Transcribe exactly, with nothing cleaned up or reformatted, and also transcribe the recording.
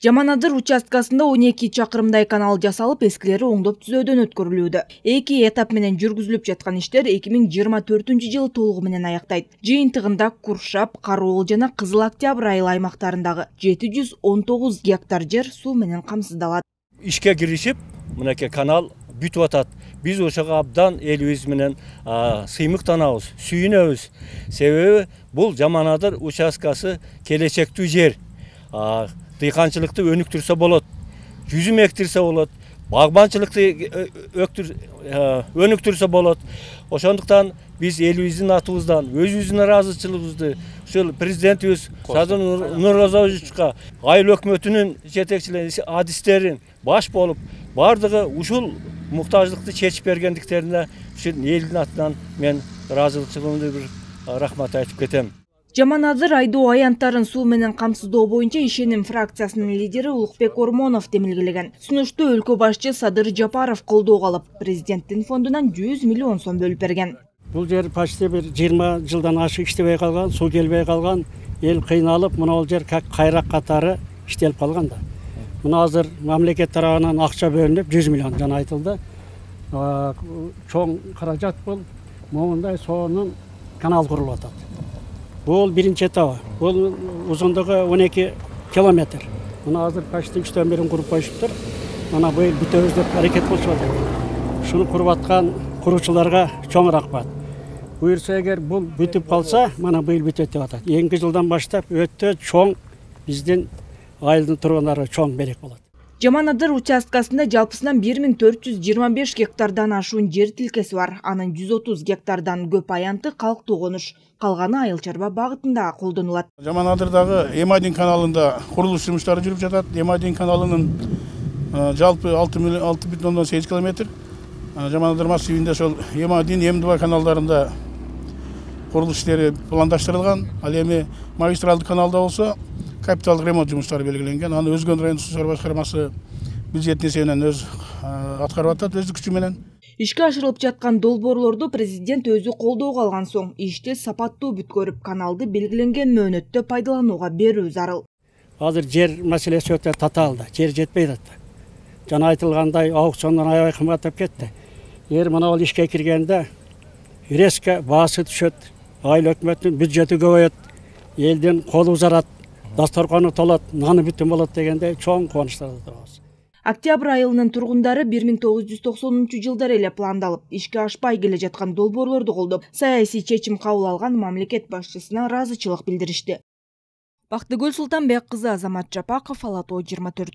Жаманадыр участкасында он эки чакырымдай канал жасалып, эскилери оңдоп түзөөдөн өткөрүлүүдө. Эки этап менен жүргүзүлүп жаткан иштер эки миң жыйырма төртүнчү жылы толугу менен аяктайт. Жыйынтыгында Куршап, Кароол жана Кызыл Октябрь айыл аймактарындагы жети жүз он тогуз гектар жер суу менен камсыздалат. Ишке киришип, мынакей канал бүтүп атат. Биз ошого абдан элибиз менен сыймыктанабыз, сүйүнөбүз. Себеби бул Жаманадыр участкасы келечектүү жер. Дыйканчылыкты өнүктүрсө болот, жүзүм эктирсе болот, багбанчылыкты өнүктүрсө болот. Ошондуктан биз элибиздин атыбыздан өзүбүздүн ыраазычылыгыбызды ушул президентибиз Садыр Нурозовичка, айыл өкмөтүнүн жетекчилери, адистерин баш болуп, бардыгы ушул муктаждыкты чечип бергендиктерине ушул элдин атынан мен ыраазычылыгымды бир рахмат айтып кетем. Жаманадыр айдоо аянттарын суу менен камсыздоо боюнча Ишеним фракциясынын лидери Улукбек Ормонов демилгелеген. Сунушту өлкө башчы Садыр Жапаров колдоого алып, президенттин фондунан жүз миллион сом бөлүп берген. Бул жер почти бир жыйырма жылдан ашык иштебей калган, суу келбей калган, эл кыйналып, мына бул жер как кайрак катары иштелип калган да. Мына азыр мамлекет тарабынан акча бөлүнүп жүз миллион жана айтылды. Чоң каражат бул, момундай сонун канал курулуп атат. Бул биринчи этабы. Бул узундугу он эки километр. Мына азыр почти үчтөн бирин куруп коюшуптур. Мына быйыл бүтөбүз деп аракет кылышып атат. Шуну куруп аткан куруучуларга чоң рахмат. Буюрса эгер бул бүтүп калса, мана быйыл бүтөт деп атат. Эки жылдан баштап өтө чоң биздин айылдын тургундары чоң белек болот. Жаманадыр участкасында жалпысынан бир миң төрт жүз жыйырма беш гектардан ашуун жер тилкеси бар. Анын жүз отуз гектардан көп аянты калктуу конуш, калганы айыл чарба багытында колдонулат. Жаманадырдагы эм один каналында курулуш жумуштары жүрүп жатат. эм один каналынын жалпы алты бүтүн ондон сегиз километр. Жаманадыр массивинде ошол эм один, эм два каналдарында курулуш иштери пландаштырылган. Ал эми магистралдык каналда болсо капиталдык ремонт жумуштары белгиленген. Аны Өзгөн райондук суу чыгаруу башкармасы бюджет эсебинен өз аткарып атат, өз күчү менен. Ишке ашырылып жаткан долбоорлорду президент өзү колдоого алган соң ишти сапаттуу бүткөрүп, каналды белгиленген мөөнөттө пайдаланууга берүү зарыл. Азыр жер маселеси өтө татаалда, жер жетпей атат. Жана айтылгандай аукциондон аябай кымбаттап кетти. Эгер мына бул ишке киргенде резко баасы түшөт, айыл өкмөттүн бюджети көбөйөт, элдин колу узарат, дасторкону толот, наны бүтүн болот дегенде чоң кубанычтарда турабыз. Октябрь айылынын тургундары бир миң тогуз жүз токсонунчу жылдары эле пландалып, ишке ашпай келе жаткан долбоорлорду колдоп, саясий чечим кабыл алган мамлекет башчысына ыраазычылык билдиришти. Бактыгүл Султанбек кызы, Азамат Жапаков, Ала Тоо жыйырма төрт.